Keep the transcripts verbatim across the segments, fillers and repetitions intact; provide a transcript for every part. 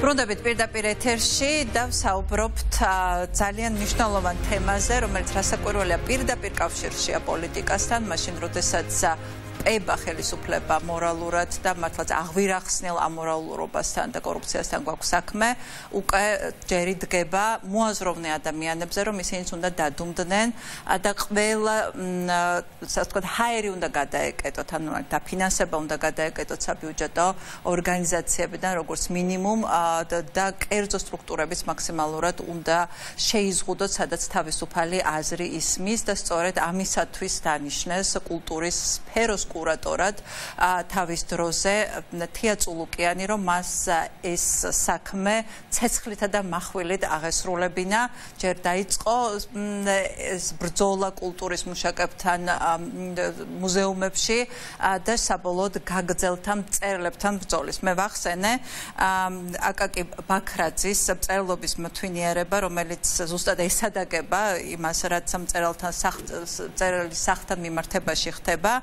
ბრუნდებით პირდაპირ ეთერში და ვსაუბრობთ ძალიან მნიშვნელოვან თემაზე, რომელიც რასაკვირველია პირდაპირ კავშირშია პოლიტიკასთან, მაშინ როდესაც ება ხელისუფლება მორალურად და მართლაც აღვირახსნელ ამორალურობასთან და კორუფციასთან გვაქვს საქმე, უკვე ჯერი დგება მოაზროვნე ადამიანებზე, რომ ისინიც უნდა დადუმდნენ და ყველა, ასე ვთქვათ, ჰაერი უნდა გადაეკეტოთ, ანუ დაფინანსება უნდა გადაეკეტოთ საბიუჯეტო ორგანიზაციებიდან, როგორც მინიმუმ და კერძო სტრუქტურების მაქსიმალურად უნდა შეიზღუდოთ, სადაც თავისუფალი აზრი ისმის და სწორედ ამისათვის დანიშნეს კულტურის სფეროს კურატორად თავის დროზე თია წულუკიანი, რომ მას ეს საქმე ცეცხლითა და מחვილით აღესრულებინა, ჯერ დაიწყო ეს ბრძოლა კულტურის მუშაკებთან მუზეუმებში და საბოლოოდ გაგრძელთა მწერლებთან ბრძოლის. მე ვახსენე აკაკი ბაქრაძის მწერლობის მთვინიერება, რომელიც ზუსტად ესადაგება იმას, რაც მწერალთან მწერლის სახთან მიმართებაში ხდება.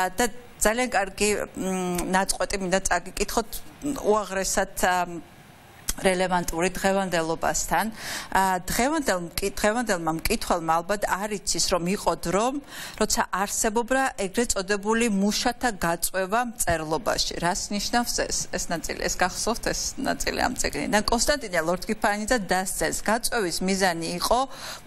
და ძალიან კარგი ნაწყვეტი მინდა წაგიკითხოთ უაღრესად რელევანტური დღევანდელობასთან. დღევანდელმა მკითხველმა ალბათ არ იცის, რომ იყო დრო, როცა არსებობდა ეგრეთ წოდებული მუშათა გაწვევა მწერლობაში. რას ნიშნავს ეს? ეს ნაწილი, ეს გახსოვთ ეს ნაწილი ამ წიგნიდან. კონსტანტინე ლორთქიფანიძე დასწრეს, გაწვევის მიზანი იყო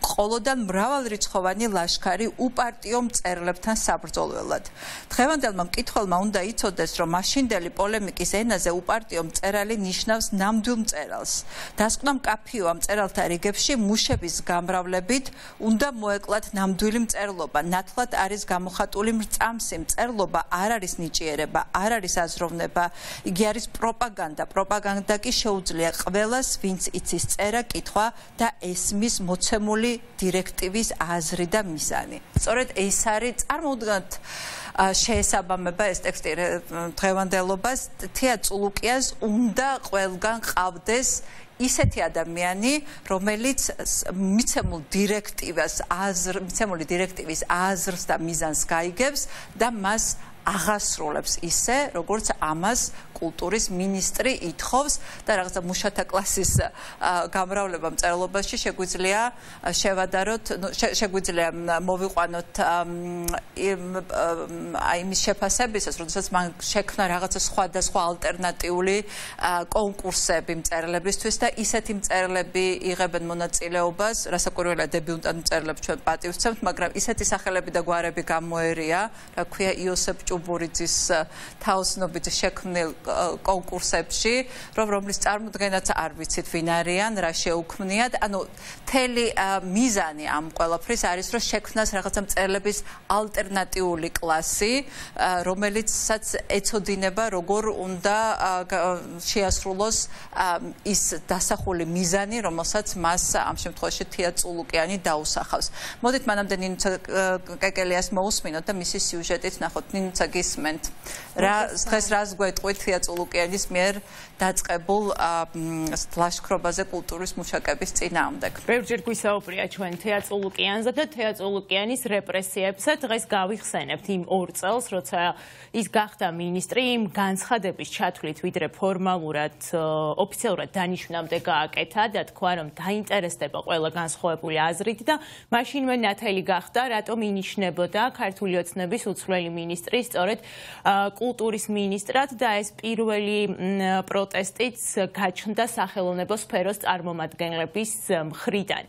ყოლოდან მრავალრიცხოვანი ლაშქარი უპარტიო მწერლებთან საბრძოლველად. დღევანდელმა მკითხველმა უნდა იცოდეს, რომ მაშინდელი პოლემიკის ენაზე უპარტიო მწერალი ნიშნავს ნამდვილ დასკვნა მკაფიოა მწერალთა რიგებში მუშების გამრავლებით უნდა მოეკლათ ნამდვილი მწერლობა. ნათლად არის გამოხატული მრწამსი მწერლობა, არ არის ნიჭიერება, არ არის აზროვნება, იგი არის პროპაგანდა. პროპაგანდა კი შეუძლია ყველას, ვინც იცის წერა, კითხვა და ესმის მოცემული დირექტივის აზრი და მიზანი. სწორედ ეს არის, წარმოვიდგინოთ, შეესაბამება ეს ტექსტი დღევანდელობას, თია წულუკიანს უნდა ყველგან ყავდეს ისეთი ადამიანი, რომელიც მიცემულ დირექტივას აზრ, მიცემული დირექტივის აზრს და მიზანს გაიგებს და მას აღასრულებს ისე, როგორც ამას კულტურის მინისტრი ითხოვს და რაღაცა მუშათა კლასის გამრავლება მწერლობაში შეგვიძლია შევადაროთ, შეგვიძლია მოვიყვანოთ აი იმის შეფასებისას, როდესაც მან შექმნა რაღაცა სხვადასხვა ალტერნატიული კონკურსები მწერლებისთვის და ისეთი მწერლები იღებენ მონაწილეობას, რასაკვირველია დებიუტანტ მწერლებს ჩვენ პატივს ვცემთ, მაგრამ ისეთი სახელები და გვარები გამოერია, რა ქვია იოსებ ჭუბურიძის თაოსნობით შექმნილ კონკურსებში, რომ რომლის წარმოდგენაც არ ვიცით ვინ არიან, რა შეუქმნიათ. ანუ მთელი მიზანი ამ ყველაფრის არის, რომ შექმნას რაღაცა მწერლების ალტერნატიული კლასი, რომელიცაც ეცოდინება, როგორ უნდა შეასრულოს ის დასახული მიზანი, რომელსაც მას ამ შემთხვევაში თია წულუკიანი დაუსახავს. მოდით მანამდე ნინუცა კეკელიას მოусმინოთ და მისი სიუჟეტით ნახოთ. ნინუცა გისმენთ. რა დღეს რას გვეტყვით თია წულუკიანის მიერ დაწყებულ ლაშქრობაზე კულტურის მუშაკების წინააღმდეგ. ბევრჯერ გვისაუბრია ჩვენ თია წულუკიანზე და თია წულუკიანის რეპრესიებზე. დღეს გავიხსენებთ იმ ორ წელს, როცა ის გახდა მინისტრი, იმ განცხადების ჩათვლით, ვიდრე ფორმალურად ოფიციალურად დანიშვნამდე გააკეთა და თქვა, რომ დაინტერესდება ყველა განსხვავებული აზრით და მაშინვე ნათელი გახდა, რატომ ინიშნებოდა ქართული ოცნების უცვლელი მინისტრი სწორედ კულტურის მინისტრად და ეს პირველი პროტესტიც გაჩნდა სახელოვნებო სფეროს წარმომადგენლების მხრიდან.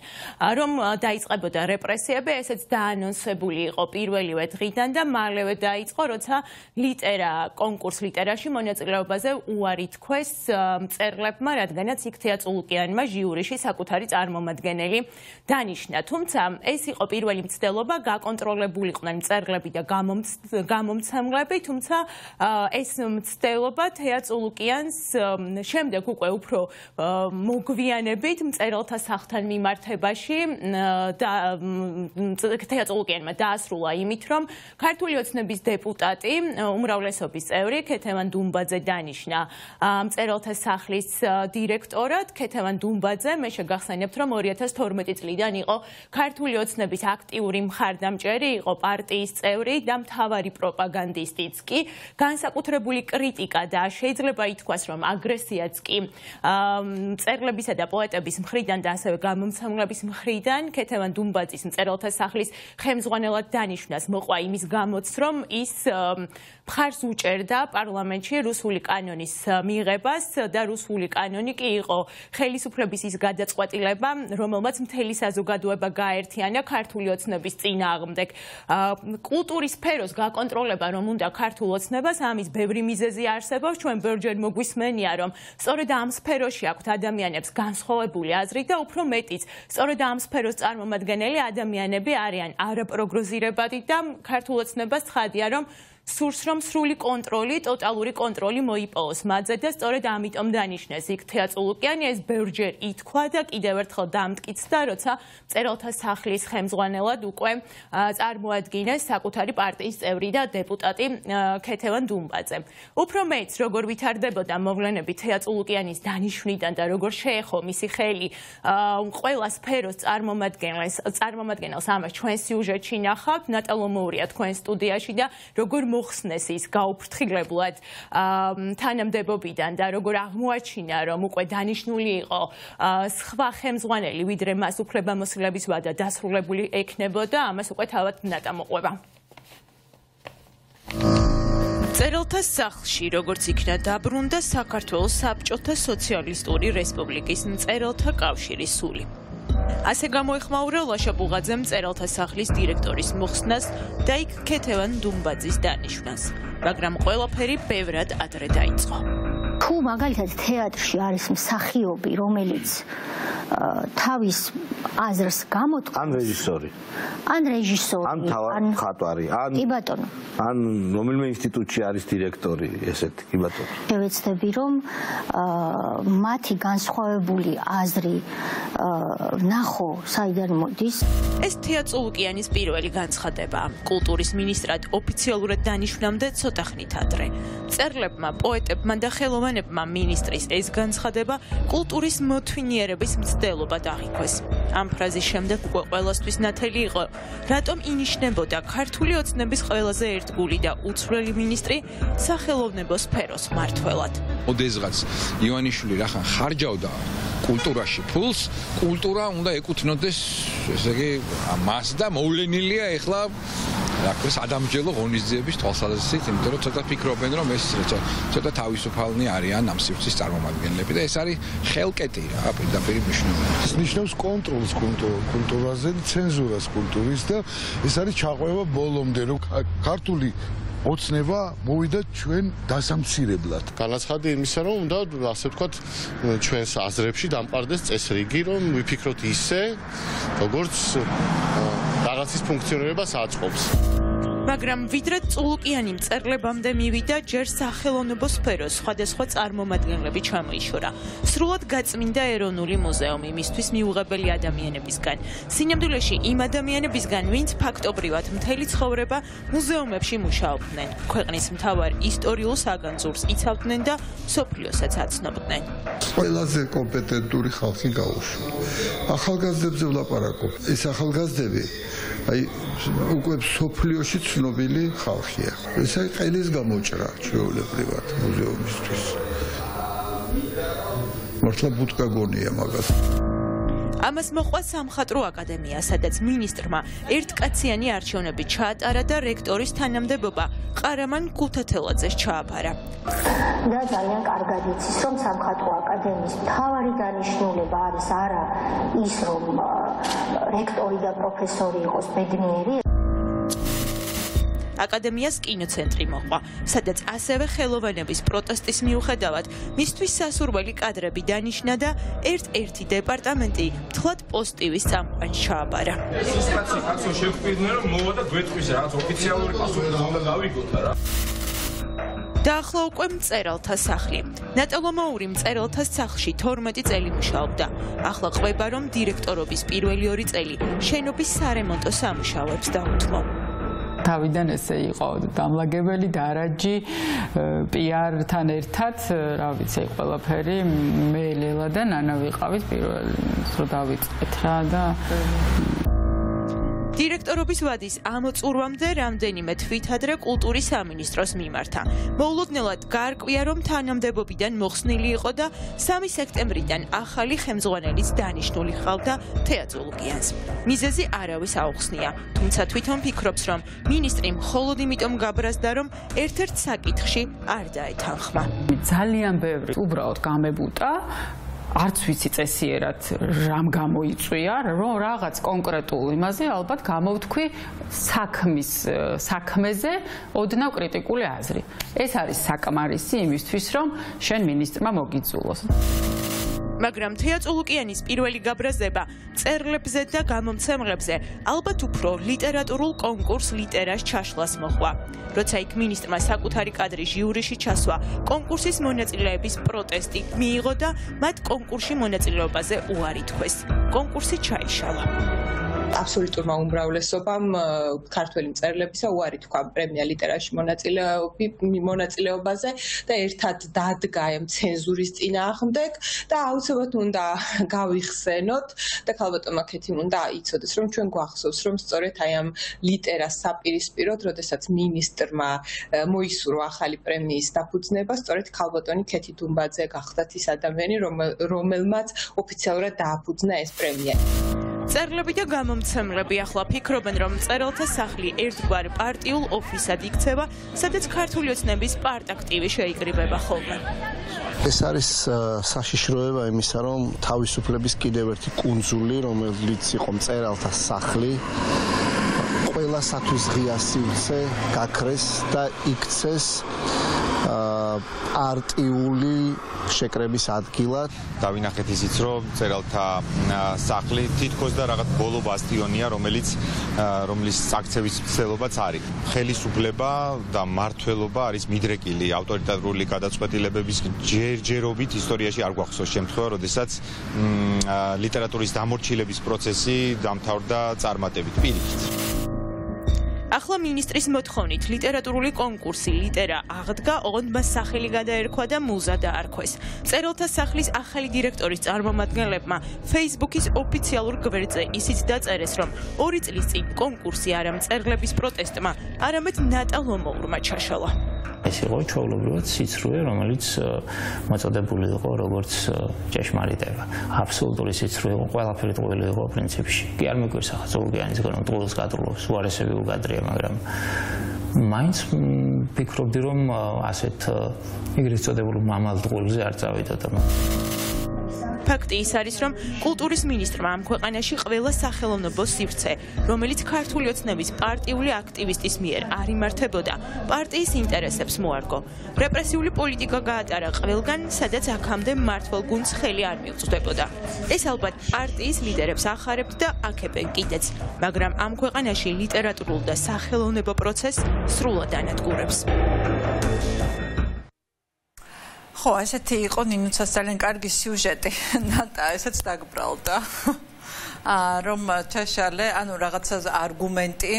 რომ დაიწყებოდა რეპრესიები, ესეც დაანონსებული იყო პირველივე დღიდან და მალევე დაიწყო, როცა ლიტერა, კონკურს ლიტერაში მონაწილეობაზე უარი თქვეს მწერლებმა, რადგანაც იქ თია წულუკიანმა ჟიურიში საკუთარი წარმომადგენელი დანიშნა. თუმცა ეს იყო პირველი მცდელობა, გაკონტროლებულიყვნენ მწერლები და გამომცემლები, თუმცა ეს მცდელობა თია წულუკიანს შემდეგ უკვე უფრო მოგვიანებით მწერალთა სახთან მიმართებაში და თია წულუკიანმა დაასრულა იმით, რომ ქართული ოცნების დეპუტატი, უმრავლესობის წევრი ქეთევან დუმბაძე დანიშნა მწერალთა სახლის დირექტორად. ქეთევან დუმბაძე, მე შეგახსენებთ, რომ ორი ათას თორმეტი წლიდან იყო ქართული ოცნების აქტიური მხარდამჭერი, იყო პარტიის წევრი და მთავარი პროპაგანდა პროპაგანდისტიც კი განსაკუთრებული კრიტიკა და შეიძლება ითქვას, რომ აგრესიაც კი მწერლებისა და პოეტების მხრიდან და ასევე გამომცემლების მხრიდან ქეთევან დუმბაძის მწერალთა სახლის ხელმძღვანელად დანიშვნას მოყვა იმის გამოც, რომ ის მხარს უჭერდა პარლამენტში რუსული კანონის მიღებას და რუსული კანონი კი იყო ხელისუფლების ის გადაწყვეტილება, რომელმაც მთელი საზოგადოება გააერთიანა ქართული ოცნების წინააღმდეგ. კულტურის სფეროს გაკონტროლება რომ უნდა ქართულ ოცნებას, ამის ბევრი მიზეზი არსებობს. ჩვენ ბევრჯერ მოგვისმენია, რომ სწორედ ამ სფეროში აქვთ ადამიანებს განსხვავებული აზრი და უფრო მეტიც, სწორედ ამ სფეროს წარმომადგენელი ადამიანები არიან არაპროგნოზირებადი და ქართულ ოცნებას ცხადია, რომ სურს რომ სრული კონტროლი, ტოტალური კონტროლი მოიპოვოს მათზე და სწორედ ამიტომ დანიშნეს იქ თეატრულუკიანი, ეს ბევრჯერ ითქვა და კიდევ ერთხელ დამტკიცდა, როცა მწერალთა სახლის ხელმძღვანელად უკვე წარმოადგინეს საკუთარი პარტიის წევრი და დეპუტატი ქეთევან დუმბაძე. უფრო მეც, როგორ ვითარდებოდა მოვლენები თეატრულუკიანის დანიშვნიდან და როგორ შეეხო მისი ხელი ყველა სფეროს წარმომადგენელს, წარმომადგენელს ამას ჩვენ სიუჟეტში ნახავთ, ნატალო მოურია თქვენ სტუდიაში და როგორ მოხსნეს ის გაუფრთხილებლად თანამდებობიდან და როგორ აღმოაჩინა, რომ უკვე დანიშნული იყო სხვა ხელმძღვანელი, ვიდრე მას უფლებამოსილების ვადა დასრულებული ექნებოდა, ამას უკვე თავად ნატა მოყვება. მწერალთა სახლში, როგორც იქნა დაბრუნდა საქართველოს საბჭოთა სოციალისტური რესპუბლიკის მწერალთა კავშირის სული. ასე გამოეხმაურა ლაშა ბუღაძემ მწერალთა სახლის დირექტორის მოხსნას და იქ ქეთევან დუმბაძის დანიშვნას, მაგრამ ყველაფერი ბევრად ადრე დაიწყო. თუ მაგალითად თეატრში არის მსახიობი, რომელიც თავის აზრს გამოთქვამს, ან რეჟისორი, ან რეჟისორი, ან მხატვარი, ან კი ბატონო, ან რომელიმე ინსტიტუტში არის დირექტორი, ესეთი, კი ბატონო. შევეცდები, რომ მათი განსხვავებული აზრი ნახო, საიდან მოდის. ეს თეატრულუკიანის პირველი განცხადება კულტურის მინისტრად ოფიციალურად დანიშნამდე ცოტა ხნით ადრე. მწერლებმა, პოეტებმა და ხელოვანებმა მინისტრის ეს განცხადება კულტურის მოთვინიერების მცდელობად აღიქვეს. ამ ფრაზის შემდეგ უკვე ყველასთვის ნათელი იყო, რატომ ინიშნებოდა ქართული ოცნების ყველაზე ერთგული და უცვლელი მინისტრი სახელოვნებო სფეროს მმართველად. ოდესღაც ივანიშვილი რახან ხარჯავდა კულტურაში ფულს, კულტურა უნდა ეკუთვნოდეს, ესე იგი, მას და მოვლენილია ეხლა რა ქვია ადამჯელო ღონისძიების თვალსაზრისით, იმიტომ რომ ცოტა ფიქრობენ, რომ ეს ცოტა თავისუფალნი არიან ამ სივრცის წარმომადგენლები და ეს არის ხელკეტი რა, პირდაპირ მნიშვნელობით. ეს ნიშნავს კონტროლს კულტურაზე, ცენზურას კულტურის და ეს არის ჩაყვება ბოლომდე, რომ ქართული ოცნება მოვიდა ჩვენ დასამცირებლად. განაცხადი იმისა, რომ უნდა ასე ვთქვათ, ჩვენს აზრებში დამყარდეს წესრიგი, რომ ვიფიქროთ ისე, როგორც რაღაცის ფუნქციონირებას აწყობს. მაგრამ ვიდრე წულუკიანი მწერლებამდე მივიდა, ჯერ სახელოვნებო სფეროს სხვადასხვა წარმომადგენლები ჩამოიშორა. სრულად გაწმინდა ეროვნული მუზეუმი მისთვის მიუღებელი ადამიანებისგან. სინამდვილეში იმ ადამიანებისგან, ვინც ფაქტობრივად მთელი ცხოვრება მუზეუმებში მუშაობდნენ, ქვეყნის მთავარ ისტორიულ საგანძურს იცავდნენ და მსოფლიოსაც აცნობდნენ. ყველაზე კომპეტენტური ხალხი გაუშვა. ახალგაზრდებზე ვლაპარაკობ. ეს ახალგაზრდები აი უკვე მსოფლიოში ცნობილი ხალხია. ეს აი ყელის გამოჭრა ჩვეულებრივად მუზეუმისთვის. მართლა ბუტკა გონია მაგას. ამას მოყვა სამხატვრო აკადემია, სადაც მინისტრმა ერთკაციანი არჩევნები ჩაატარა და რექტორის თანამდებობა ყარამან გუთათელაძეს ჩააფარა. და ძალიან კარგად იცის, რომ სამხატვრო აკადემიის მთავარი დანიშნულება არის არა ის, რომ რექტორი და პროფესორი იყოს ბედნიერი. აკადემიას კინოცენტრი მოყვა, სადაც ასევე ხელოვანების პროტესტის მიუხედავად მისთვის სასურველი კადრები დანიშნა და ერთ-ერთი დეპარტამენტი მთლად პოზიტივის წამყვანს ჩააბარა. ეს კაცი კაცო შეგვიძლია რომ მოვა და გვეტყვის რაღაც ოფიციალური პასუხი უნდა გავიგოთ რა. დაახლა უკვე მწერალთა სახლი. ნატალო მოური მწერალთა სახლში თორმეტი წელი მუშაობდა. ახლა ყვება, რომ დირექტორობის პირველი ორი წელი შენობის სარემონტო სამუშაოებს დაუთმო. თავიდან ესე იყო დამლაგებელი დარაჯი პიართან ერთად, რა ვიცი, ყველაფერი მე ლელა და ნანა ვიყავით პირველ დრო დავიწყეთ რა და დირექტორ ლიდერატორობის ვადის ამოწურვამდე რამდენიმე თვითადრე კულტურის სამინისტროს მიმართა. მოულოდნელად გარკვია, რომ თანამდებობიდან მოხსნილი იყო და სამი სექტემბრიდან ახალი ხელმძღვანელის დანიშნული ჰყავდა თეატროლოგიანს. მიზეზი არავის აუხსნია, თუმცა თვითონ ფიქრობს, რომ მინისტრი მხოლოდ იმიტომ გაბრაზდა, რომ ერთ-ერთ საკითხში არ დაეთანხმა. ძალიან ბევრი უბრალოდ გამებუტა არც ვიცი წესიერად რამ გამოიწვია, რომ რაღაც კონკრეტულ იმაზე ალბათ გამოვთქვი საქმის საქმეზე ოდნავ კრიტიკული აზრი. ეს არის საკმარისი იმისთვის, რომ შენ მინისტრმა მოგიძულოს. მაგრამ თეატროლოგიანის პირველი გაბრაზება წერლებზე და გამომცემლებზე ალბათ უფრო ლიტერატურულ კონკურს ლიტერას ჩაშლას მოჰყვა. როცა იქ მინისტრმა საკუთარი კადრი ჟიურიში ჩასვა, კონკურსის მონაწილეების პროტესტი მიიღო და მათ კონკურსში მონაწილეობაზე უარი თქვეს. კონკურსი ჩაიშალა. აბსოლუტურმა უმრავლესობამ ქართველი მწერლებისა უარი თქვა პრემია ლიტერაში მონაწილეობაზე და ერთად დადგა ამ ცენზურის წინააღმდეგ და აუცილებლად უნდა გავიხსენოთ და ქალბატონმა ქეთიმ უნდა იცოდეს, რომ ჩვენ გვახსოვს, რომ სწორედ აი ამ ლიტერას საპირისპიროდ, როდესაც მინისტრმა მოისურვა ახალი პრემიის დაფუძნება, სწორედ ქალბატონი ქეთი დუმბაძე გახდათ ის ადამიანი, რომელმაც ოფიციალურად დააფუძნა ეს პრემია. წერლები და გამომცემლები ახლა ფიქრობენ, რომ მწერალთა სახლი ერთგვარ პარტიულ ოფისად იქცევა, სადაც ქართული ოცნების პარტაქტივი შეიკრიბება ხოლმე. ეს არის საშიშროება იმისა, რომ თავისუფლების კიდევ ერთი კუნძული, რომელიც იყო მწერალთა სახლი, ყველასათვის ღია სივრცე გაქრეს და იქცეს პარტიული შეკრების ადგილად. დავინახეთ ისიც, რომ მწერალთა სახლი თითქოს და რაღაც ბოლო ბასტიონია, რომელიც რომლის აქცევის მცდელობაც არის. ხელისუფლება და მმართველობა არის მიდრეკილი ავტორიტარული გადაწყვეტილებების ჯერჯერობით ისტორიაში არ გვახსოვს შემთხვევა, როდესაც ლიტერატურის დამორჩილების პროცესი დამთავრდა წარმატებით. პირიქით. ახლა მინისტრის მოთხოვნით ლიტერატურული კონკურსი ლიტერა აღდგა, ოღონდ მას სახელი გადაერქვა და მუზა დაარქვეს. მწერალთა სახლის ახალი დირექტორის წარმომადგენლებმა Facebook-ის ოფიციალურ გვერდზე ისიც დაწერეს, რომ ორი წლის წინ კონკურსი არა მწერლების პროტესტმა, არამედ ნატა ლომოურმა ჩაშალა. ეს იყო ჩვეულებრივად სიცრუე, რომელიც მოწოდებული იყო როგორც ჭეშმარიტება. აბსოლუტური სიცრუე იყო, ყველაფერი ტყუილი იყო პრინციპში. კი არ მეგვირს ახლა ზურგიანის გონო ტყუილს გადრულობს, უარესები უგადრია, მაგრამ მაინც ფიქრობდი, რომ ასეთ ეგრეთ წოდებულ მამალ ტყუილზე არ წავიდოდა. ფაქტი ის არის, რომ კულტურის მინისტრმა ამ ქვეყანაში ყველა სახელოვნებო სივრცე, რომელიც ქართული ოცნების პარტიული აქტივისტის მიერ არ იმართებოდა, პარტიის ინტერესებს მოარგო. რეპრესიული პოლიტიკა გაატარა ყველგან, სადაც აქამდე მმართველ გუნდს ხელი არ მიუწვდებოდა. ეს ალბათ პარტიის ლიდერებს ახარებთ და აქებენ კიდეც, მაგრამ ამ ქვეყანაში ლიტერატურულ და სახელოვნებო პროცესს სრულად ანადგურებს. ხო, ესეთი იყო ნინუცას ძალიან კარგი სიუჟეტი. ნატა, ესეც დაგბრალდა. რომ ჩაშალე, ანუ რაღაცა არგუმენტი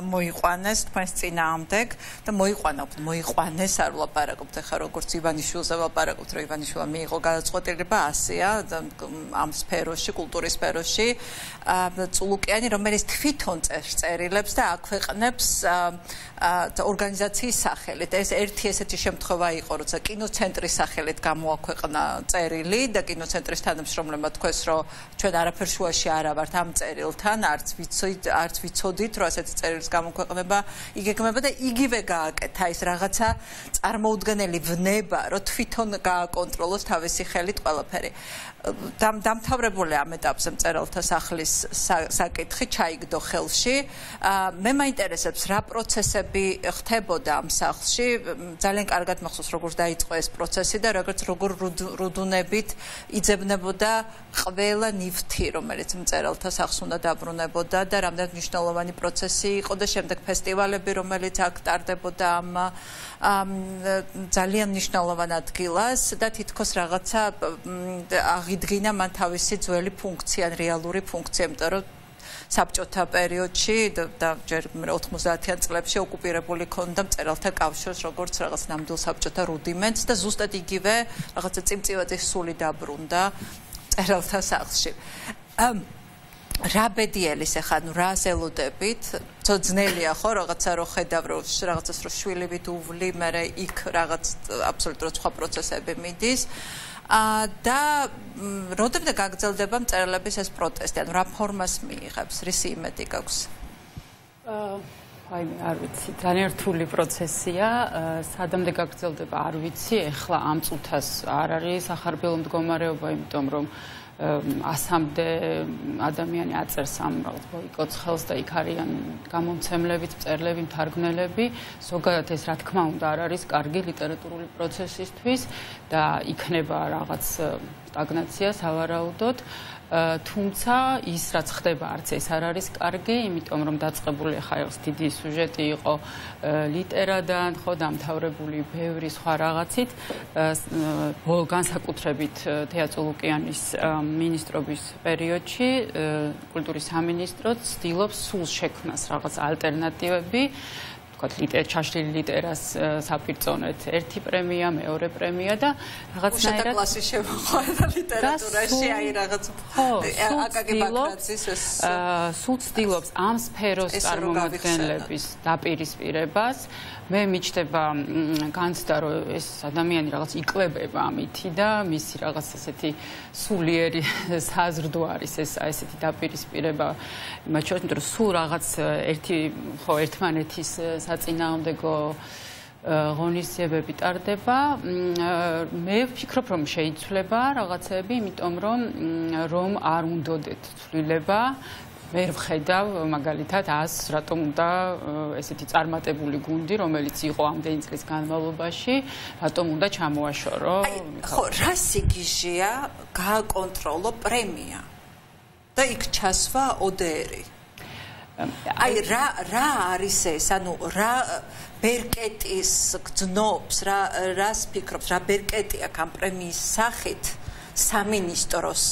მოიყვანეს თქვენს წინააღმდეგ და მოიყვანოთ, მოიყვანეს არ ვლაპარაკობთ ახლა როგორც ივანიშვილზე ვლაპარაკობთ, რომ ივანიშვილმა მიიღო გადაწყვეტილება ასეა ამ სფეროში, კულტურის სფეროში, წულუკიანი, რომელიც თვითონ წერს წერილებს და აქვეყნებს ორგანიზაციის სახელით. ეს ერთი ესეთი შემთხვევა იყო, როცა კინოცენტრის სახელით გამოაქვეყნა წერილი და კინოცენტრის თანამშრომლებმა თქვეს, რომ ჩვენ არაფერ შუაში არ ვართ ამ წერილთან, არც ვიცით, არც ვიცოდით, რომ ასეთი წერილის გამოქვეყნება იგეგმება და იგივე გააკეთა ის რაღაცა წარმოუდგენელი ვნება, რომ თვითონ გააკონტროლოს თავისი ხელით ყველაფერი. დამთავრებული ამ ეტაპზე მწერალთა სახლის საკითხი ჩაიგდო ხელში. მე მაინტერესებს რა პროცესები ხდებოდა ამ სახლში. ძალიან კარგად მახსოვს როგორ დაიწყო ეს პროცესი და როგორც როგორ რუდუნებით იძებნებოდა ყველა ნივთი, რომელიც მწერალთა სახლს უნდა დაბრუნებოდა და რამდენად მნიშვნელოვანი პროცესი იყო და შემდეგ ფესტივალები, რომელიც აქ ტარდებოდა ამ ძალიან მნიშვნელოვან ადგილას და თითქოს რაღაცა აღიდგინა მან თავისი ძველი ფუნქცია, რეალური ფუნქცია, იმიტომ რომ საბჭოთა პერიოდში და ჯერ ოთხმოცდაათიან წლებში ოკუპირებული ქონდა მწერალთა კავშირს როგორც რაღაც ნამდვილ საბჭოთა რუდიმენტს და ზუსტად იგივე რაღაცა წიმწივაძის სული დაბრუნდა მწერალთა სახლში. რა ბედიელის ახლა ნუ რას ელოდებით ძნელია ხო რაღაცა რო ხედავ რომ რაღაცას რო შვილივით უვლი მე იქ რაღაც აბსოლუტურად სხვა პროცესები მიდის და როდემდე გაგრძელდება მწერლების ეს პროტესტი ანუ რა ფორმას მიიღებს რისი იმედი გაქვს აი მე არ ვიცი ძალიან რთული პროცესია სადამდე გაგრძელდება არ ვიცი ეხლა ამ წუთას არ არის სახარბელო მდგომარეობა იმიტომ რომ ასამდე ადამიანი აწერს ამ რაღაც ბოიკოტს ხელს და იქ არიან გამომცემლები, მწერლები, მთარგმნელები. ზოგადად ეს რა თქმა უნდა არ არის კარგი ლიტერატურული პროცესისთვის და იქნება რაღაც სტაგნაცია სავარაუდოდ. თუმცა ის რაც ხდება არც ეს არ არის კარგი, იმიტომ რომ დაწყებული ხა ეს დიდი სიუჟეტი იყო ლიტერადან, ხო, დამთავრებული ბევრი სხვა რაღაცით, განსაკუთრებით თეატრულუკიანის მინისტრობის პერიოდში კულტურის სამინისტროც ცდილობს სულ შექმნას რაღაც ალტერნატივები ვთქვათ, ჩაშლილი ლიტერას საპირწონეთ ერთი პრემია, მეორე პრემია და რაღაცნაირად უშატა კლასი შემოყვანა ლიტერატურაში, აი რაღაც აკაკი ბაქრაძის ეს სულ ცდილობს ამ სფეროს წარმომადგენლების დაპირისპირებას. მე მიჩნდება განცდა რომ ეს ადამიანი რაღაც იკვებება ამითი და მისი რაღაც ესეთი სულიერი საზრდო არის ეს ესეთი დაპირისპირება მათ შორის, იმიტომ რომ სულ რაღაც ერთი ხო ერთმანეთის საწინააღმდეგო ღონისძიებები ტარდება. მე ვფიქრობ რომ შეიცვლება რაღაცები, იმიტომ რომ რომ არ უნდოდეთ ცვლილება ვერ ვხედავ მაგალითად ას რატომ უნდა ესეთი წარმატებული გუნდი რომელიც იყო ამდენი წლის განმავლობაში რატომ უნდა ჩამოაშორო ხო რა სიგიჟეა გააკონტროლო პრემია და იქ ჩასვა ოდეერი აი რა რა არის ეს ანუ რა ბერკეტის გძნობს რა რას ფიქრობს რა ბერკეტი აქვს ამ პრემიის სახით სამინისტროს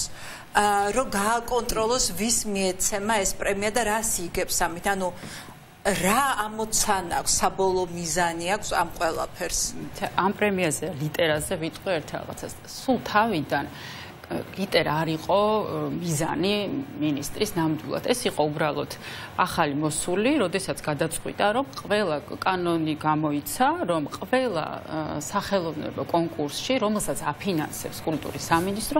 რომ გააკონტროლოს ვის მიეცემა ეს პრემია და რას იგებს ამით ანუ რა ამოცანა აქვს საბოლოო მიზანი აქვს ამ ყველაფერს ამ პრემიაზე ლიტერაზე ვიტყვი ერთ რაღაცას სულ თავიდან ლიტერა არ იყო მიზანი მინისტრის ნამდვილად ეს იყო უბრალოდ ახალი მოსული როდესაც გადაწყვიტა რომ ყველა კანონი გამოიცა რომ ყველა სახელოვნებო კონკურსში რომელსაც აფინანსებს კულტურის სამინისტრო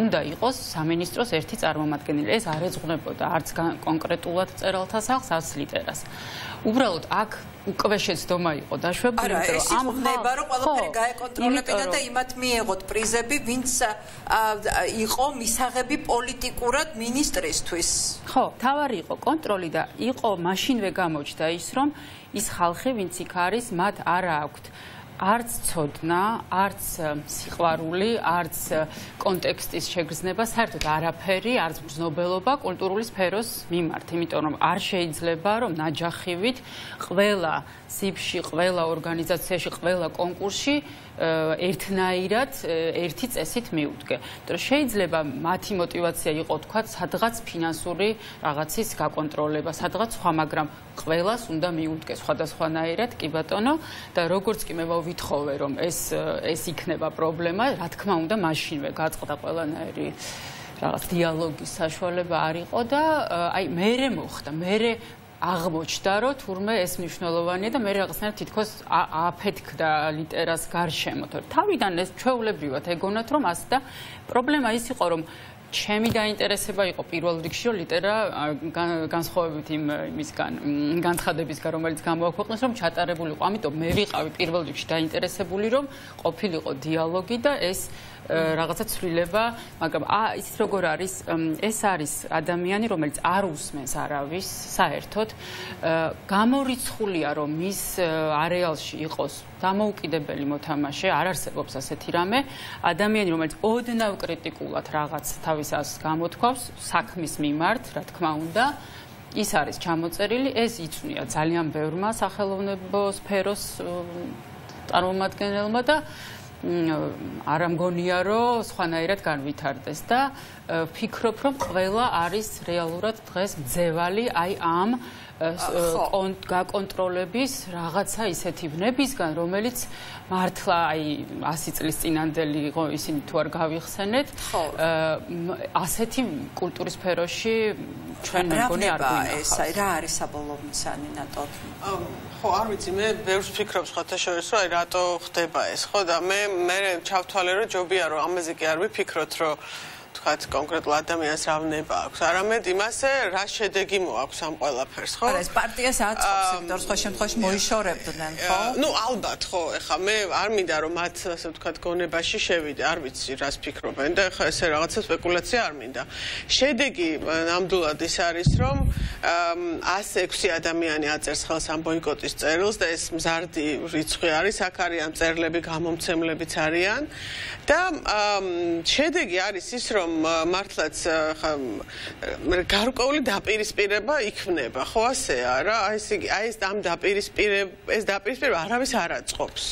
უნდა იყოს სამინისტროს ერთი წარმომადგენელი ეს არ ეძღვნებოდა არც კონკრეტულად მწერალთა სახლს არც ლიტერას უბრალოდ აქ უკვე შეცდომა იყო დაშვებული რომ ამ ხდება რომ ყველაფერი გაეკონტროლებინა და იმათ მიეღოთ პრიზები ვინც იყო მისაღები პოლიტიკურად მინისტრისთვის ხო თავარი იყო კონტროლი და იყო მაშინვე გამოჩნდა ის რომ ის ხალხი ვინც იქ არის მათ არ აქვთ არც ცოდნა, არც სიყვარული, არც კონტექსტის შეგრძნება, საერთოდ არაფერი, არც მგრძნობელობა კულტურული სფეროს მიმართ, იმიტომ რომ არ შეიძლება რომ ნაჯახივით ყველა სიფში, ყველა ორგანიზაციაში, ყველა კონკურსში ერთნაირად ერთი წესით მიუდგე. იმიტომ შეიძლება მათი мотиваცია იყო თქვა სადღაც ფინანსური რაღაცის გაკონტროლება, სადღაც სხვა, მაგრამ ყველას უნდა მიუდგე სხვადასხვანაირად, კი ბატონო, და როგორც კი მე ვითხოვე რომ ეს ეს იქნება პრობლემა, რა თქმა უნდა, მაშინვე გაწყდა ყველანაირი რაღაც დიალოგის საშუალება არ იყო და აი მერე მოხდა, მერე აღმოჩნდა რომ თურმე ეს მნიშვნელოვანია და მე რაღაცნაირად თითქოს აფეთქდა ლიტერას გარშემო, თორე თავიდან ეს ჩვეულებრივად ეგონათ რომ ასე და პრობლემა ის იყო რომ ჩემი დაინტერესება იყო პირველ რიგში რომ ლიტერა განსხვავებით იმ იმისგან განცხადებისგან რომელიც გამოაქვეყნეს რომ ჩატარებული იყო, ამიტომ მე ვიყავი პირველ რიგში დაინტერესებული რომ ყოფილიყო დიალოგი და ეს რაღაცა ცვლილება, მაგრამ ის როგორ არის, ეს არის ადამიანი, რომელიც არ უსმენს არავის საერთოდ, გამორიცხულია რომ მის არეალში იყოს დამოუკიდებელი მოთამაშე, არ არსებობს ასეთი რამე, ადამიანი, რომელიც ოდნავ კრიტიკულად რაღაც თავის აზრს გამოთქვავს საქმის მიმართ, რა თქმა უნდა, ის არის ჩამოწერილი, ეს იწვნია ძალიან ბევრმა სახელოვნებო სფეროს წარმომადგენელმა და არ ამგონია რომ სხვანაირად განვითარდეს და ვფიქრობ რომ ყველა არის რეალურად დღეს მძევალი აი ამ გაკონტროლების რაღაცა ისეთი ვნებისგან, რომელიც მართლა აი ასი წლის წინანდელი იყო ისინი თუ არ გავიხსენეთ, ასეთი კულტურის სფეროში ჩვენ მეგონი არ გვინახავს. რა არის საბოლოო მიზანი ნატოდ? ხო, არ ვიცი, მე ბევრს ვფიქრობ სხვათა შორის, რომ აი რატო ხდება ეს, ხო და მე მე ჩავთვალე, რომ ჯობია რომ ამაზე კი არ ვიფიქროთ, რომ თქვათ კონკრეტულ ადამიანს რა ვნება აქვს, არამედ იმასე რა შედეგი მოაქვს ამ ყველაფერს, ხო? არა, ეს პარტიას აწყობს, იმიტომ სხვა შემთხვევაში მოიშორებდნენ, ხო? ნუ ალბათ, ხო, ეხლა მე არ მინდა რომ მათ ასე ვთქვათ გონებაში შევიდე, არ ვიცი რას ფიქრობენ და ეხლა ესე რაღაცა სპეკულაცია არ მინდა. შედეგი ნამდვილად ის არის, რომ ასი ექვსი ადამიანი აწერს ხელს ამ ბოიკოტის წერილს და ეს მზარდი რიცხვი არის, აქ არიან მწერლები, გამომცემლებიც არიან და შედეგი არის ის, რომ მართლაც გარკვეული დაპირისპირება იქმნება, ხო ასეა რა? აი ეს აი ეს ამ დაპირისპირება, ეს დაპირისპირება არავის არ აწყობს.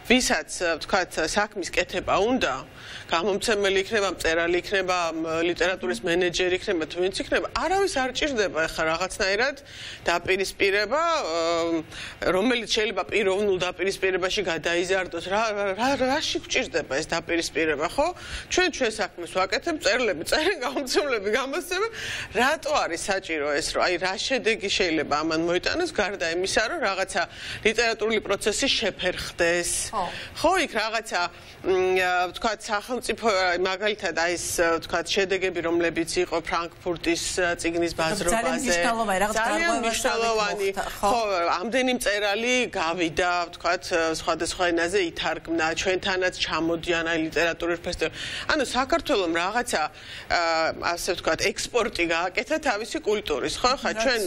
ვისაც ვთქვათ საქმის კეთება უნდა, გამომცემელი იქნება, მწერალი იქნება, ლიტერატურის მენეჯერი იქნება, თუ ვინც იქნება, არავის არ ჭირდება ახლა რაღაცნაირად დაპირისპირება, რომელიც შეიძლება პიროვნულ დაპირისპირებაში გადაიზარდოს. რა რაში გვჭირდება ეს დაპირისპირება, ხო? ჩვენ ჩვენ საქმეს ვაკეთებ, მწერლები წერენ, გამომცემლები გამოსცემენ. რატო არის საჭირო ეს, რომ აი რა შედეგი შეიძლება ამან მოიტანოს, გარდა იმისა, რომ რაღაცა ლიტერატურული პროცესი შეფერხდეს. ხო, იქ რაღაცა ვთქვათ სახელმწიფო მაგალითად აი ეს ვთქვათ შედეგები, რომლებიც იყო ფრანკფურტის წიგნის ბაზრობაზე. ძალიან მნიშვნელოვანი, ხო, ამდენი მწერალი გავიდა, ვთქვათ, სხვადასხვა ენაზე ითარგმნა, ჩვენთანაც ჩამოდიან აი ლიტერატურის ფესტივალში. ანუ საქართველოს რაღაცა ასე ვთქვათ, ექსპორტი გააკეთა თავისი კულტურის, ხო? ხა ჩვენ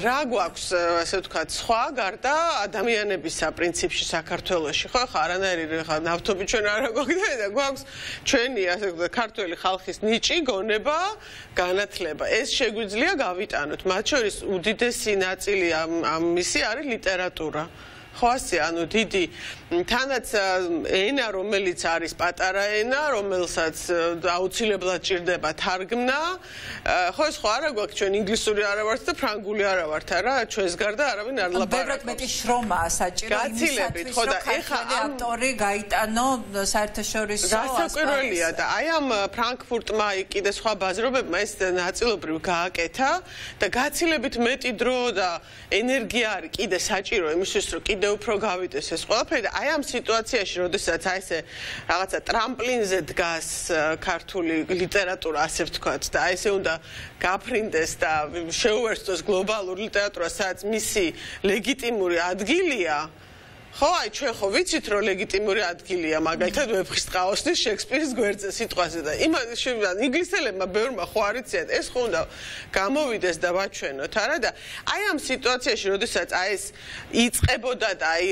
რა გვაქვს, ასე ვთქვათ, სხვა გარდა ადამიანებისა პრინციპში საქართველოში, ხო? ხა არანაირი ნავთობი ჩვენ არ გვაქვს და გვაქვს ჩვენი, ასე ვთქვათ, ქართველი ხალხის ნიჭი, გონება, განათლება. ეს შეგვიძლია გავიტანოთ. მათ შორის უდიდესი ნაწილი ამ მისი არის ლიტერატურა. ხო ასე, ანუ დიდი თანაც ენა, რომელიც არის პატარა ენა, რომელსაც აუცილებლად ჭირდება თარგმნა, ხო ეს ხო არა გვაქვს ჩვენ ინგლისური არა ვართ და ფრანგული არა ვართ, არა, ჩვენს გარდა არავინ არ ლაპარაკობს. ბევრად მეტი შრომაა საჭირო იმისათვის, რომ ქართველი ავტორი გაიტანო საერთაშორისო ასპარეზზე. გასაკვირველია და აი ამ ფრანკფურტმა კიდე სხვა ბაზრობებმა ეს ნაწილობრივ გააკეთა და გაცილებით მეტი დრო და ენერგია არის კიდე საჭირო იმისთვის, რომ კიდე უფრო გავიდეს ეს ყველაფერი და აი ამ სიტუაციაში, როდესაც აი ესე რაღაცა ტრამპლინზე დგას ქართული ლიტერატურა, ასე ვთქვათ, და აი ესე უნდა გაფრინდეს და შეუერთოს გლობალურ ლიტერატურას, სადაც მისი ლეგიტიმური ადგილია. ხო, აი ჩვენ ხო ვიცით, რომ ლეგიტიმური ადგილია, მაგალითად ვეფხისტყაოსნის შექსპირის გვერდზე სიტყვაზე და იმან ინგლისელებმა ბევრმა ხო არ იციან, ეს ხო უნდა გამოვიდეს და ვაჩვენოთ, არა და აი ამ სიტუაციაში, როდესაც აი ეს იწყებოდა და აი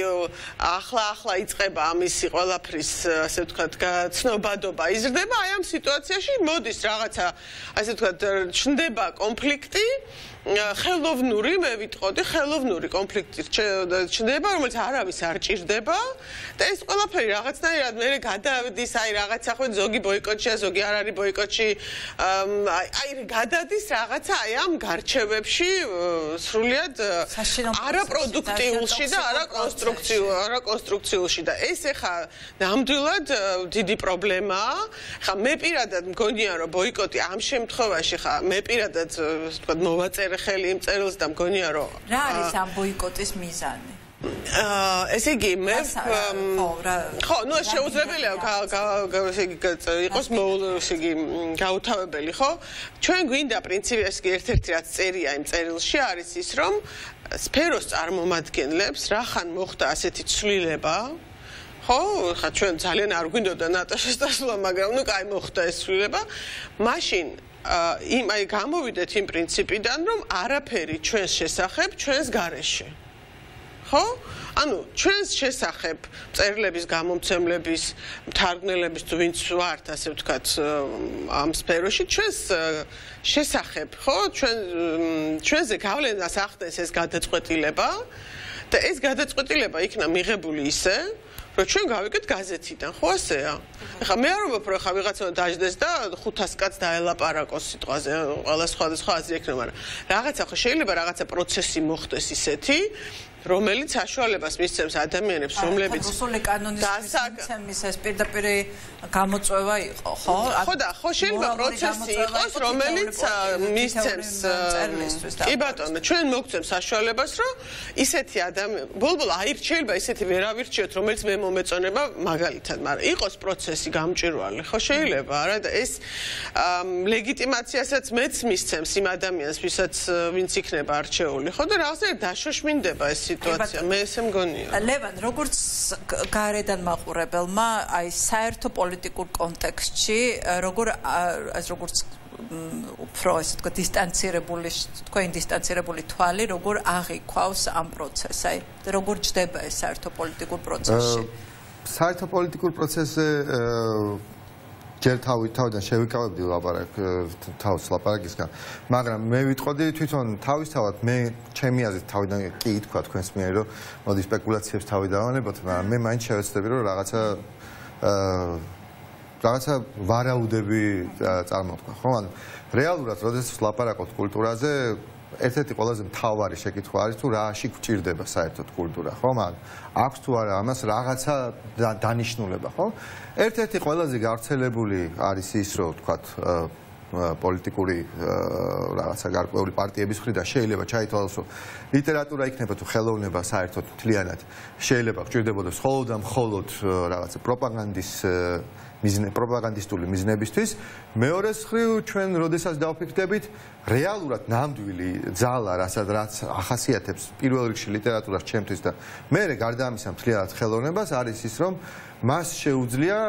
ახლა-ახლა იწყება ამისი ყველაფრის, ასე ვთქვათ, ცნობადობა იზრდება, აი ამ სიტუაციაში მოდის რაღაცა, ასე ვთქვათ, ჩნდება კონფლიქტი ხელოვნური, მე ვიტყოდი, ხელოვნური კონფლიქტი ჩნდება, რომელიც არავის არ ჭირდება და ეს ყველაფერი რაღაცნაირად მე გადავდის, აი რაღაცა ხო ზოგი ბოიკოტშია, ზოგი არ არის ბოიკოტში, აი გადადის რაღაცა აი ამ გარჩევებში სრულიად არაპროდუქტიულში და არაკონსტრუქციულ, არაკონსტრუქციულში და ეს ეხა ნამდვილად დიდი პრობლემაა. ხა მე პირადად მგონია, რომ ბოიკოტი ამ შემთხვევაში ხა მე პირადად თქვა მოვაწერე ხელი იმ წერილს და მგონია რომ რა არის ამ ბოიკოტის მიზანი? ესე იგი მე ხო, ნუ შეუძლებელია იყოს ესე იგი გაუთავებელი, ხო? ჩვენ გვინდა პრინციპი ეს ერთ-ერთი რაც წერია იმ წერილში არის ის, რომ სფეროს წარმომადგენლებს რახან მოხდა ასეთი ცვლილება, ხო, ხა ჩვენ ძალიან არ გვინდოდა ნატაშას დასვლა, მაგრამ ნუ კაი მოხდა ეს ცვლილება, მაშინ იმ აი გამოვიდეთ იმ პრინციპიდან, რომ არაფერი ჩვენს შესახებ ჩვენს გარეშე. ხო? ანუ ჩვენს შესახებ წერილების, გამომცემლების, მთარგმნელების თუ ვინც ვართ, ასე ვთქვათ, ამ სფეროში ჩვენს შესახებ, ხო? ჩვენ ჩვენზე გავლენას ახდენს ეს გადაწყვეტილება და ეს გადაწყვეტილება იქნა მიღებული ისე, რომ ჩვენ გავიკეთ გაზეთიდან, ხო ასეა? ეხლა მე არ ვამბობ, რომ ეხლა ვიღაცა დაждდეს და ხუთას კაცს დაელაპარაკოს სიტყვაზე, ყველა სხვადასხვა აზრი ექნება, მაგრამ რაღაცა ხო შეიძლება რაღაცა პროცესი მოხდეს ისეთი, რომელიც საშუალებას მისცემს ადამიანებს, რომლებიც რუსული კანონის მისცემის ეს პირდაპირ გამოწვევა იყო, ხო? ხო და ხო შეიძლება პროცესი იყოს, რომელიც მისცემს კი ბატონო, ჩვენ მოგცემს საშუალებას, რომ ისეთი ადამიანი, ბოლბოლა აირჩ შეიძლება ისეთი ვერ ავირჩიოთ, რომელიც მე მომეწონება მაგალითად, მაგრამ იყოს პროცესი გამჭვირვალე, ხო შეიძლება, არა და ეს ლეგიტიმაციასაც მეც მისცემს იმ ადამიანს, ვისაც ვინც იქნება არჩეული, ხო და რაღაცა დაშოშმინდება ეს სიტუაცია, მე ესე მგონია. ლევან, როგორც გარედან მაყურებელმა, აი საერთო პოლიტიკურ კონტექსტში, როგორ ეს როგორც უფრო ესე თქვა დისტანცირებული, თქვენი დისტანცირებული თვალი, როგორ აღიქვავს ამ პროცესს, აი როგორ ჯდება ეს საერთო პოლიტიკურ პროცესში? საერთო პოლიტიკურ პროცესზე ჯერ თავი თავიდან შევიკავებდი ლაპარაკ თავს ლაპარაკისგან, მაგრამ მე ვიტყოდი თვითონ თავისთავად მე ჩემი აზრით თავიდან კი ითქვა თქვენს მიერ რომ მოდი სპეკულაციებს თავი დავანებოთ, მაგრამ მე მაინც შევეცდები რომ რაღაცა რაღაცა ვარაუდები წარმოვთქვა, ხო? ანუ რეალურად როდესაც ლაპარაკობთ კულტურაზე ერთ-ერთი ყველაზე მთავარი შეკითხვა არის თუ რაში გვჭირდება საერთოდ კულტურა, ხო? მაგრამ აქვს თუ არა ამას რაღაცა დანიშნულება, ხო? ერთ-ერთი ყველაზე გავრცელებული არის ის, რომ ვთქვათ, პოლიტიკური რაღაცა გარკვეული პარტიების მხრიდან შეიძლება ჩაითვალოს, რომ ლიტერატურა იქნება თუ ხელოვნება საერთოდ მთლიანად შეიძლება გვჭირდებოდეს მხოლოდ და მხოლოდ რაღაცა პროპაგანდის მიზნე პროპაგანდისტული მიზნებისთვის. მეორეს მხრივ ჩვენ როდესაც დავფიქრდებით რეალურად ნამდვილი ძალა, რასაც რაც ახასიათებს პირველ რიგში ლიტერატურას ჩემთვის და მერე გარდა ამისა მთლიანად ხელოვნებას არის ის, რომ მას შეუძლია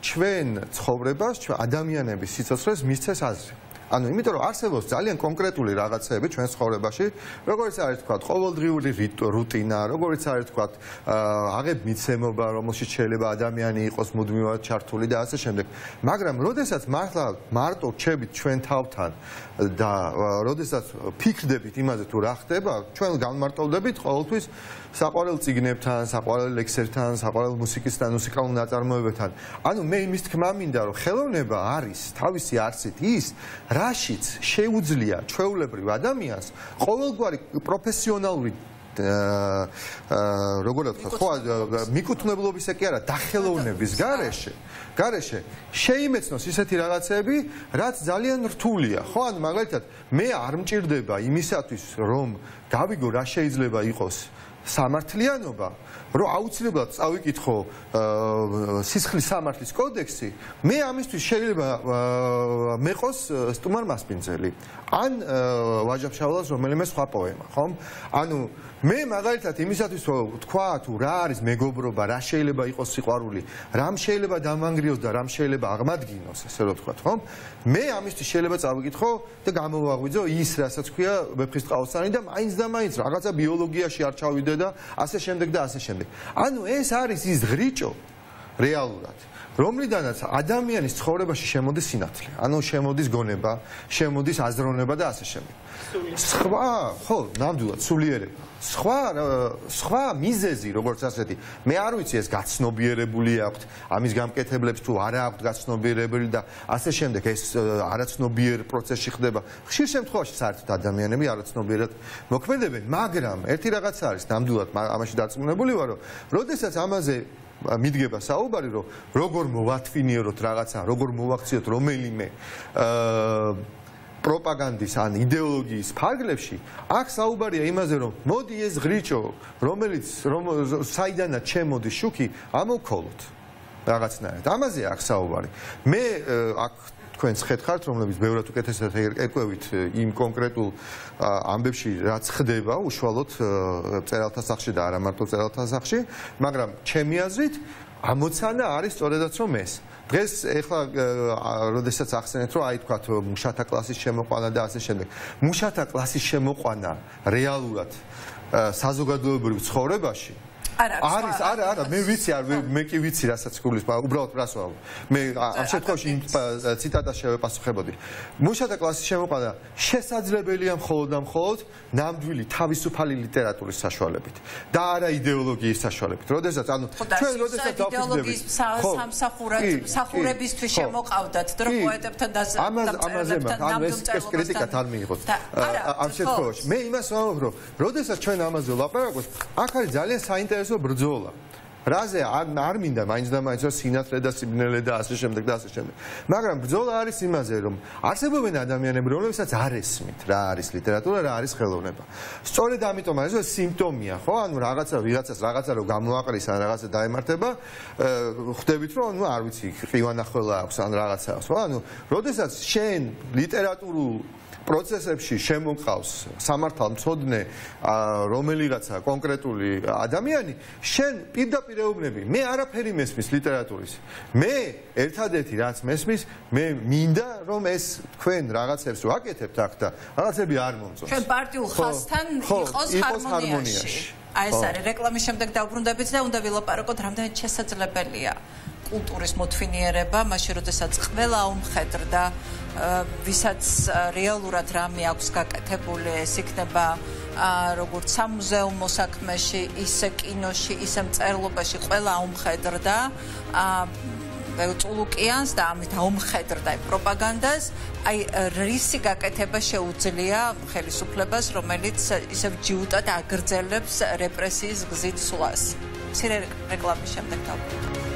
ჩვენ ცხოვრებას, ჩვენ ადამიანების სიცოცხლეს მისცეს აზრი. ანუ იმიტომ რომ არსებობს ძალიან კონკრეტული რაღაცები ჩვენ ცხოვრებაში, როგორც არის თქვა ყოველდღიური რუტინა, როგორც არის თქვა აღებ მიცემობა, რომელშიც შეიძლება ადამიანი იყოს მუდმივად ჩართული და ასე შემდეგ. მაგრამ როდესაც მართლა მარტო რჩებით ჩვენ თავთან და როდესაც ფიქრდებით იმაზე თუ რა ხდება, ჩვენ განმარტოვდებით ყოველთვის საყვარელ წიგნებთან, საყვარელ ლექსებთან, საყვარელ მუსიკისთან, მუსიკალურ ნაწარმოებებთან. ანუ მე იმის თქმა მინდა, რომ ხელოვნება არის თავისი არსით ის, რაშიც შეუძლია ჩვეულებრივ ადამიანს ყოველგვარი პროფესიონალური როგორ ვთქვა, ხო, მიკუთვნებლობის კი არა, დახელოვნების გარეშე, გარეშე შეიმეცნოს ისეთი რაღაცები, რაც ძალიან რთულია, ხო, ანუ მაგალითად მე არ მჭირდება იმისათვის, რომ გავიგო რა შეიძლება იყოს სამართლიანობა, რომ აუცილებლად წავიკითხო სისხლის სამართლის კოდექსი, მე ამისთვის შეიძლება მეყოს სტუმარ მასპინძელი ან ვაჟა-ფშაველას რომელიმე სხვა პოემა, ხომ? ანუ მე მაგალითად იმისათვის რომ თქვა თუ რა არის მეგობრობა, რა შეიძლება იყოს სიყვარული, რამ შეიძლება დამანგრიოს და რამ შეიძლება აღმადგინოს, ესე რომ ვთქვათ, ხომ? მე ამისთვის შეიძლება წავიკითხო და გამოვაღვიძო ის, რასაც ქვია ვეფხისტყაოსანი და მაინც და მაინც რაღაცა ბიოლოგიაში არ ჩავიდე და ასე შემდეგ და ასე შემდეგ. ანუ ეს არის ის ღრიჭო რეალურად, რომლიდანაც ადამიანის ცხოვრებაში შემოდის სინათლე, ანუ შემოდის გონება, შემოდის აზროვნება და ასე შემდეგ. სხვა, ხო, ნამდვილად სულიერება. სხვა სხვა მიზეზი, როგორც ასეთი, მე არ ვიცი ეს გაცნობიერებული აქვთ, ამის გამკეთებლებს თუ არა აქვთ გაცნობიერებული და ასე შემდეგ, ეს არაცნობიერ პროცესში ხდება. ხშირ შემთხვევაში საერთოდ ადამიანები არაცნობიერად მოქმედებენ, მაგრამ ერთი რაღაც არის, ნამდვილად ამაში დარწმუნებული ვარ, რომ როდესაც ამაზე მიდგება საუბარი, რომ როგორ მოვათვინიეროთ რაღაცა, როგორ მოვაქციოთ რომელიმე პროპაგანდის ან იდეოლოგიის ფარგლებში, აქ საუბარია იმაზე, რომ მოდი ეს ღრიჭო, რომელიც საიდანაც შემოდის შუქი, ამოვქოლოთ რაღაცნაირად. ამაზე აქ საუბარი. მე აქ თქვენს ხეთხართ, რომლებიც ბევრად უკეთესად ეკევით იმ კონკრეტულ ამბებში, რაც ხდება უშუალოდ მწერალთა სახლში და არა მარტო მწერალთა სახლში, მაგრამ ჩემი აზრით ამოცანა არის სწორედაც რომ ეს. დღეს ეხლა როდესაც ახსენეთ, რომ აი თქვათ მუშათა კლასის შემოყვანა და ასე შემდეგ. მუშათა კლასის შემოყვანა რეალურად საზოგადოებრივ ცხოვრებაში არის, არა, არა, მე ვიცი, მე კი ვიცი, რასაც გulis, უბრალოდ რას ვამბობ. მე ამ შემთხვევაში ციტატას შევეპასუხებოდი. მუშათა კლასის შემოყვანა შესაძლებელია მხოლოდ და მხოლოდ ნამდვილი თავისუფალი ლიტერატურის საშუალებით და არა იდეოლოგიის საშუალებით. როდესაც ანუ ჩვენ როდესაც იდეოლოგიის სამსახურად სახურებისთვის შემოყავდათ დრო პოეტებთან და ამაზე ანუ ეს კრიტიკა თან მიიღოთ. ამ შემთხვევაში მე იმას ვამბობ, რომ როდესაც ჩვენ ამაზე ვლაპარაკობთ, აქ არის ძალიან საინტერესო ბრძოლა. რაზე არ მინდა მაინც და მაინც რომ სინათლე და სიბნელე და ასე შემდეგ და ასე შემდეგ. მაგრამ ბრძოლა არის იმაზე, რომ არსებობენ ადამიანები, რომლებსაც არ ესმით რა არის ლიტერატურა, რა არის ხელოვნება. სწორედ ამიტომ არის ეს სიმპტომია, ხო? ანუ რაღაცა ვიღაცას რაღაცა რომ გამოაყრის ან რაღაცა დაემართება, ხვდებით რომ ნუ არ ვიცი, ყივანახველა აქვს ან რაღაცა აქვს, ხო? ანუ როდესაც შენ ლიტერატურულ პროცესებში შემოყავს სამართალმცოდნე რომელიღაცა კონკრეტული ადამიანი, შენ პირდაპირ ეუბნები, მე არაფერი მესმის ლიტერატურის. მე ერთადერთი რაც მესმის, მე მინდა რომ ეს თქვენ რაღაცებს ვაკეთებთ აქ და რაღაცები არ მომწონს. ჩვენ პარტიულ ხაზთან იყოს ჰარმონიაში. აი ეს არის რეკლამის შემდეგ დავბრუნდებით და უნდა ვილაპარაკოთ, რამდენად შესაძლებელია კულტურის მოთვინიერება, მაშინ როდესაც ყველა უმხედრდა ვისაც რეალურად რამე აქვს გაკეთებული, ეს იქნება როგორც სამუზეუმო საქმეში, ისე კინოში, ისე მწერლობაში ყველა უმხედრდა წულუკიანს და ამით აუმხედრდა პროპაგანდას, აი რისი გაკეთება შეუძლია ხელისუფლებას, რომელიც ისევ ჯიუტად აგრძელებს რეპრესიის გზით სვლას. მცირე რეკლამის შემდეგ დავბრუნდებით.